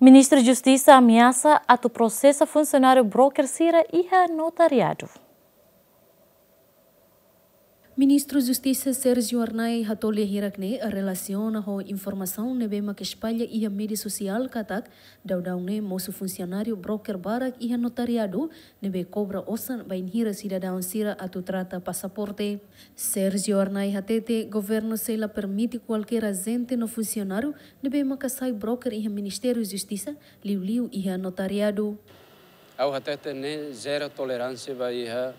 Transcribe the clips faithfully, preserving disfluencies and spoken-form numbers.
Ministru Justisa ameasa atu prosesa funsionáriu broker sira iha notariadu. Ministru Justisa Sérgio Arnay hato'o lia hirak ne'e relasiona ho informasaun ne'ebé maka espalla iha média sosiál katak daudaun ne'e mosu funsionáriu broker barak iha notariadu ne'ebé kobra osan bainhira sidadaun sira atu trata pasaporte. Sérgio Arnay hatete governu sei la permite kualkér ajente no funsionáriu ne'ebé maka sai broker iha Ministériu Justisa, liuliu iha notariadu. Ha'u hatete ne'e zero toleránsia ba iha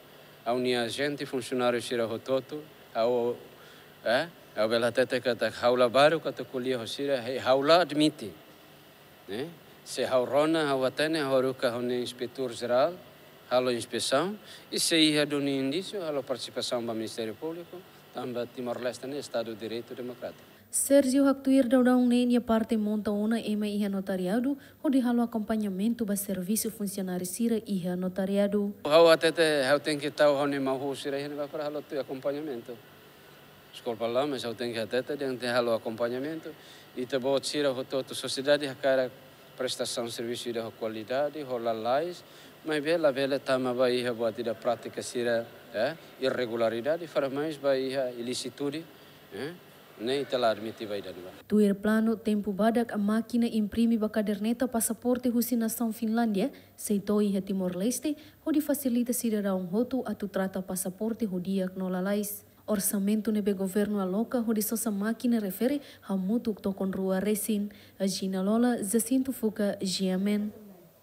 ha'u-nia ajente funsionáriu sira hotu-hotu, ha'u, eh, ha'u bele hatete katak ha'u la baruk atu ko'alia ho sira, he, ha'u la admite. Ne'e? Se ha'u rona, ha'u hatene, ha'u haruka ha'u-nia inspetór jerál halo inspesaun, i se iha duni indísiu, halo partisipasaun ba Ministériu Públiku, tanba Timor-Leste ne'e Estadu Direitu Demokrátiku. Sérgio haktuir daudaun ne'e nia parte monta ona ema iha notariadu, hodi halo akompañamentu ba servisu funsionáriu sira iha notariadu. Ha'u hatete, ha'u tenke tau ha'u-nia mahú sira iha ne'ebá para halo tuir akompañamentu. Deskulpa lá, mas ha'u tenke hatete, dehan tenke halo akompañamentu. Ita-boot sira hotu-hotu sosiedade hakarak prestasaun servisu ida ho kualidade, ho lalais, maibé labele tama ba iha buat ida prátika sira, eh, irregularidade, fora mais ba iha ilísitude, eh, ne'e ita la admite ba ida-ne'ebá. Tuir planu, tempu badak mákina imprime ba kaderneta pasaporte husi nasaun Finlándia sei to'o iha Timor-Leste, hodi fasilita sidadaun hotu atu trata pasaporte ho di'ak no lalais. Orsamentu ne'ebé governu aloka hodi sosa mákina refere hamutuk tokon rua resin. Agina Lola, Jacinto Fuca, G M N.